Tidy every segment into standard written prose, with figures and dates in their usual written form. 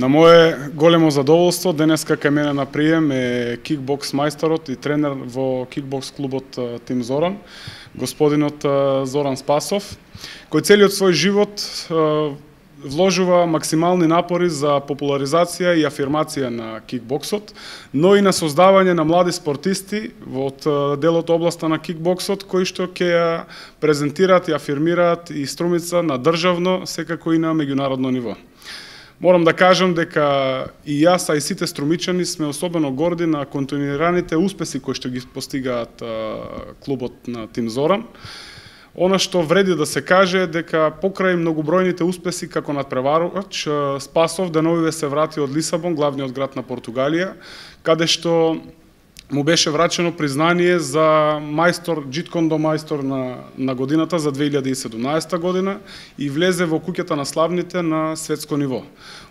На мое големо задоволство, денеска кај мене на прием е кикбокс мајсторот и тренер во кикбокс клубот Тим Зоран, господинот Зоран Спасов, кој целиот свој живот вложува максимални напори за популаризација и афирмација на кикбоксот, но и на создавање на млади спортисти во делот областа на кикбоксот, кои што ќе ја презентираат и афирмираат и Струмица на државно, секако и на меѓународно ниво. Морам да кажам дека и јас, а и сите струмичани сме особено горди на континуираните успеси кои што ги постигаат клубот на Тим Зоран. Она што вреди да се каже дека покрај многобројните успеси како надпреварувач, Спасов деновиве се врати од Лисабон, главниот град на Португалија, каде што му беше врачено признание за мајстор, джиткондо мајстор на годината за 2017 година и влезе во куќата на славните на светско ниво.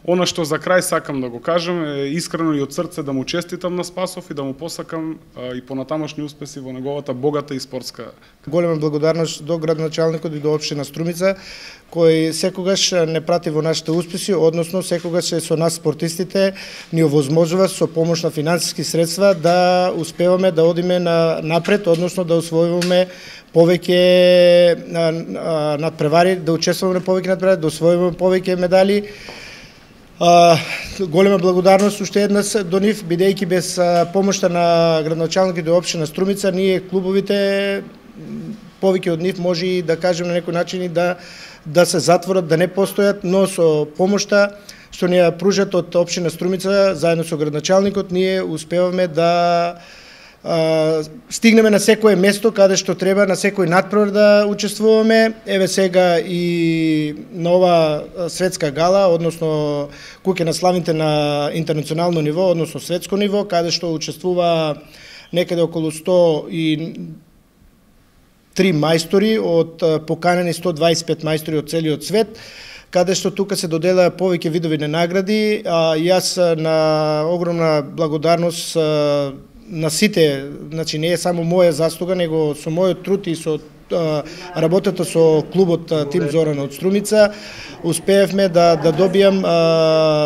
Она што за крај сакам да го кажам е искрено и од срце да му честитам на Спасов и да му посакам и понатамошни успеси во неговата богата и спортска. Голема благодарност до градоначалникот и до општина Струмица, кој секогаш не прати во нашите успеси, односно секогаш со нас спортистите ни овозможува со помош на финансиски средства да успеваме да одиме напред, односно да освојуваме повеќе надпревари, да учествуваме повеќе надпревари, да освојуваме повеќе медали. Голема благодарност уште еднаш до нив, бидејќи без помошта на градоначалникот и општина Струмица, ние клубовите повеќе од нив може и да кажем на некој начин и да се затворат, да не постојат, но со помошта што ни ја пружат од општина Струмица, заедно со градоначалникот, ние успеваме да стигнеме на секое место каде што треба, на секој надпревар да учествуваме. Еве сега и на ова светска гала, односно куќе на славните на интернационално ниво, односно светско ниво, каде што учествува некаде околу 103 мајстори од поканени 125 мајстори од целиот свет, каде што тука се доделаа повеќе видови на награди. Јас на огромна благодарност на сите, значи не е само моја заслуга, него со мојот труд и со работата со клубот Тим Зоран од Струмица, успеевме да добијам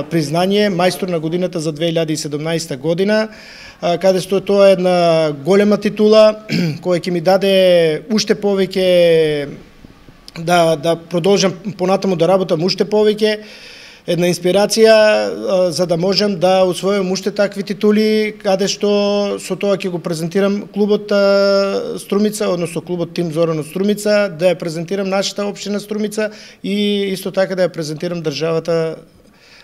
признание мајстор на годината за 2017 година, каде што тоа е една голема титула која ќе ми даде уште повеќе да продолжам понатаму да работам уште повеќе, една инспирација за да можам да усвојам уште такви титули, каде што со тоа ќе го презентирам клубот Струмица, односно клубот Тим Зоран од Струмица, да ја презентирам нашата општина Струмица и исто така да ја презентирам државата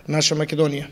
наша Македонија.